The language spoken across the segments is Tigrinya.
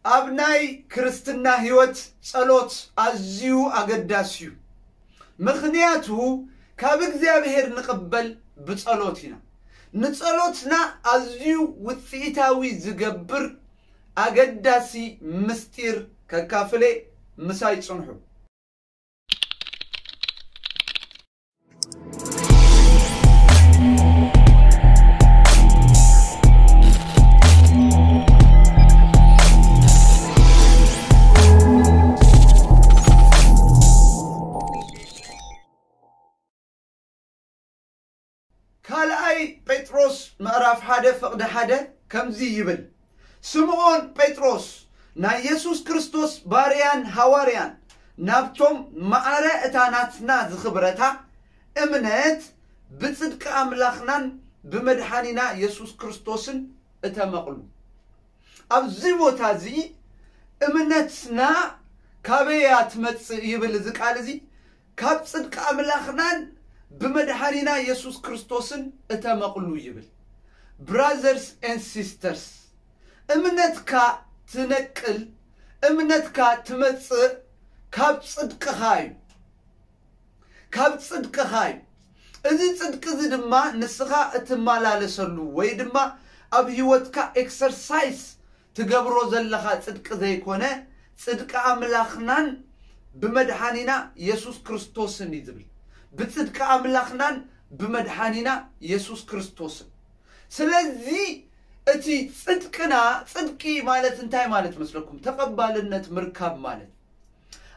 ኣብ ናይ ክርስትና ህይወት ጸሎት ኣዝዩ ኣገዳሲ እዩ። ምኽንያቱ ካብ እግዚኣብሔር ንቕበል ብጸሎት ኢና። ንጸሎትና ኣዝዩ ውጽኢታዊ ዝገብር ኣገዳሲ ምስጢር ከካፍለ ምሳይ ጽንሑ። ካልኣይ ጴጥሮስ ምዕራፍ ሓደ ፍቕዲ ሓደ ከምዚ ይብል፣ ስምዖን ጴጥሮስ ናይ የሱስ ክርስቶስ ባርያን ሃዋርያን ናብቶም ማዕረ እታ ናትና ዝኽብረታ እምነት ብጽድቂ ኣምላኽናን ብመድሓኒና የሱስ ክርስቶስን እተመቕሉ። ኣብዚ ቦታ እዚ እምነትና ካበያ ትመጽእ ይብል እዚ ቃል እዚ፣ ካብ ጽድቂ ኣምላኽናን ብመድሓኒና የሱስ ክርስቶስን እተመቕሉ ይብል። Brothers and sisters፣ እምነትካ ትነቅል፣ እምነትካ ትመጽእ ካብ ጽድቅኻ እዩ። ካብ ጽድቅኻ እዩ። እዚ ጽድቂ እዚ ድማ ንስኻ እትመላለሰሉ ወይ ድማ ኣብ ህይወትካ ኤክሰርሳይዝ ትገብሮ ዘለኻ ጽድቂ ዘይኮነ፣ ጽድቂ ኣምላኽናን ብመድሓኒና የሱስ ክርስቶስን እዩ ዝብል። ብጽድቂ ኣምላኽናን ብመድሓኒና የሱስ ክርስቶስን። ስለዚ እቲ ጽድቅና፣ ጽድቂ ማለት እንታይ ማለት መስለኩም? ተቐባልነት ምርካብ ማለት።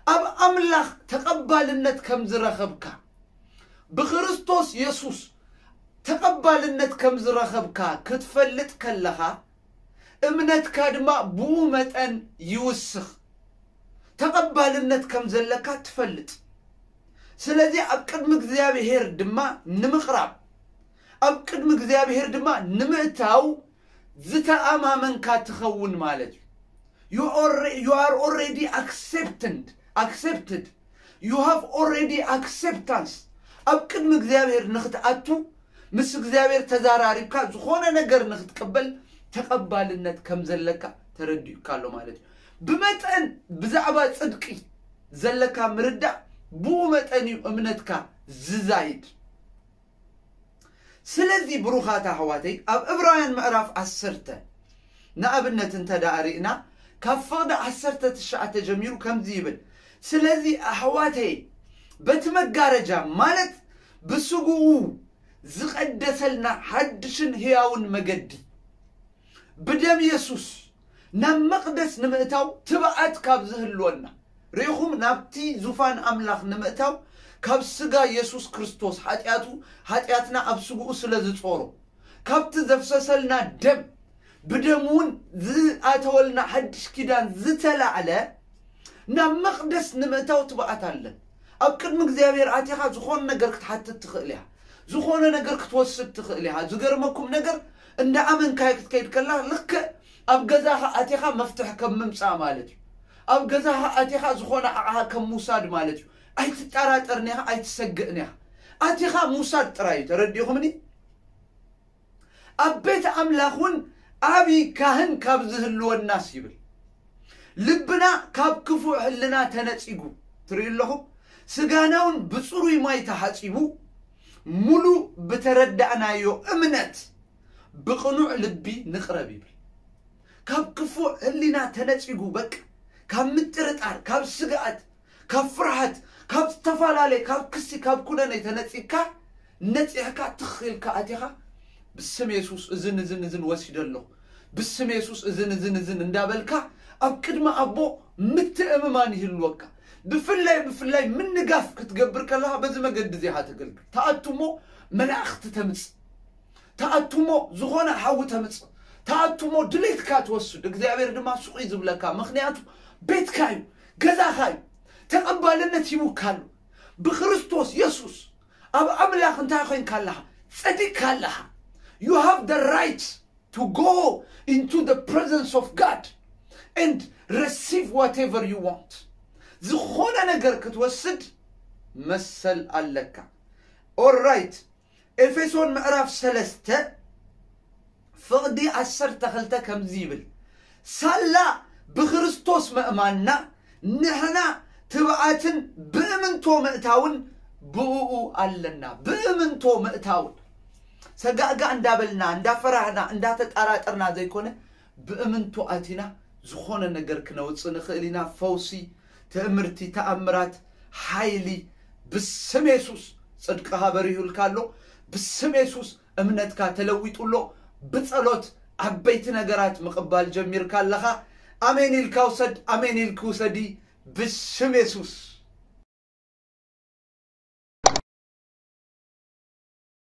ኣብ ኣምላኽ ተቐባልነት ከም ዝረኸብካ፣ ብክርስቶስ የሱስ ተቐባልነት ከም ዝረኸብካ ክትፈልጥ ከለኻ፣ እምነትካ ድማ ብኡ መጠን ይውስኽ። ተቐባልነት ከም ዘለካ ትፈልጥ። ስለዚ ኣብ ቅድሚ እግዚኣብሔር ድማ ንምቕራብ፣ ኣብ ቅድሚ እግዚኣብሔር ድማ ንምእታው ዝተኣማመንካ ትኸውን ማለት እዩ። You are, you are already accepted, accepted. You have already acceptance. ኣብ ቅድሚ እግዚኣብሔር ንኽትኣቱ፣ ምስ እግዚኣብሔር ተዛራሪብካ ዝኾነ ነገር ንኽትቅበል ተቐባልነት ከም ዘለካ ተረዲኡካ ኣሎ ማለት እዩ። ብመጠን ብዛዕባ ጽድቂ ዘለካ ምርዳእ፣ ብኡ መጠን እዩ እምነትካ ዝዛይድ። ስለዚ ብሩኻት ኣሕዋተይ፣ ኣብ ዕብራውያን ምዕራፍ ዓሰርተ ንኣብነት እንተ ደኣ ርኢና፣ ካብ ፍቕዲ ዓሰርተ ትሽዓተ ጀሚሩ ከምዚ ይብል፣ ስለዚ ኣሕዋተይ፣ በቲ መጋረጃ ማለት ብስግኡ ዝቐደሰልና ሓድሽን ህያውን መገዲ ብደም የሱስ ናብ መቕደስ ንምእታው ትብዓት ካብ ዝህልወና፣ ርኢኹም፣ ናብቲ ዙፋን ኣምላኽ ንምእታው ካብ ስጋ የሱስ ክርስቶስ ሓጢኣቱ፣ ሓጢኣትና ኣብ ስግኡ ስለ ዝጾሮ፣ ካብቲ ዘፍሰሰልና ደም፣ ብደም እውን ዝኣተወልና ሓድሽ ኪዳን ዝተላዕለ ናብ መቕደስ ንምእታው ትብዓት ኣለን። ኣብ ቅድሚ እግዚኣብሔር ኣቲኻ ዝኾነ ነገር ክትሓትት ትኽእል ኢኻ። ዝኾነ ነገር ክትወስድ ትኽእል ኢኻ። ዝገርመኩም ነገር፣ እንዳ ኣመንካዮ ክትከይድ ከላ፣ ልክዕ ኣብ ገዛኻ ኣቲኻ መፍትሕ ከም ምምጻእ ማለት እዩ። ኣብ ገዛኻ ኣቲኻ ዝኾነ ኣቕሓ ከም ምውሳድ ማለት እዩ። ኣይትጠራጠርን ኢኻ፣ ኣይትሰግእን ኢኻ። ኣቲኻ ምውሳድ ጥራይ እዩ። ተረዲእኹምኒ? ኣብ ቤት ኣምላኽ እውን ዓቢ ካህን ካብ ዝህልወናስ ይብል። ልብና ካብ ክፉእ ሕልና ተነጺጉ፣ ትርእዩ ኣለኹም፣ ስጋና እውን ብጽሩይ ማይ ተሓጺቡ፣ ሙሉ ብተረዳእናዮ እምነት ብቕኑዕ ልቢ ንቕረብ ይብል። ካብ ክፉእ ሕሊና ተነጺጉ፣ በቃ፣ ካብ ምጥርጣር፣ ካብ ስግኣት፣ ካብ ፍርሃት፣ ካብ ዝተፈላለየ፣ ካብ ክሲ፣ ካብ ኩነኔ ተነጺግካ፣ ነጺሕካ ትኽ ኢልካ ኣቲኻ፣ ብስም የሱስ እዝን እዝን እዝን ወሲደ ኣለኹ፣ ብስም የሱስ እዝን እዝን እዝን እንዳበልካ ኣብ ቅድሚ ኣቦ ምትእምማን ይህልወካ። ብፍላይ ብፍላይ ምንጋፍ ክትገብር ከለኻ በዚ መገዲ እዚ ኢኻ ተገልግል። ተኣቱ እሞ መላእኽቲ ተምጽእ፣ ተኣቱ እሞ ዝኾነ ሓዊ ተምጽእ፣ ተኣቱ እሞ ድሌትካ ትወስድ፣ እግዚኣብሔር ድማ ስቕ እዩ ዝብለካ። ምኽንያቱ ቤትካ እዩ፣ ገዛኻ እዩ፣ ተቐባልነት ሂቡካ ኣሎ። ብክርስቶስ የሱስ ኣብ ኣምላኽ እንታይ ኮይንካ ኣለኻ? ጸዲቕካ ኣለኻ። You have the right to go into the presence of God and receive whatever you want. ዝኾነ ነገር ክትወስድ መሰል ኣለካ። All right. ኤፌሶን ምዕራፍ ሰለስተ ፍቕዲ ዓሰርተ ክልተ ከምዚ ይብል፣ ሳላ ብክርስቶስ ምእማንና ንሕና ትብዓትን ብእምንቶ ምእታውን ብእኡ ኣለና። ብእምንቶ ምእታውን ሰጋእጋ እንዳበልና እንዳፈራህና እንዳተጣራጠርና ዘይኮነ ብእምንቶ ኣቲና ዝኾነ ነገር ክነውፅእ ንኽእል ኢና። ፈውሲ፣ ትእምርቲ፣ ተኣምራት፣ ሓይሊ ብስም የሱስ። ጽድቅኻ በሪሁልካ ኣሎ። ብስም የሱስ እምነትካ ተለዊጡ ኣሎ። ብጸሎት ዓበይቲ ነገራት ምቕባል ጀሚርካ ኣለኻ። ኣሜን ኢልካ ውሰድ። ኣሜን ኢልክ ውሰዲ። ብስም የሱስ።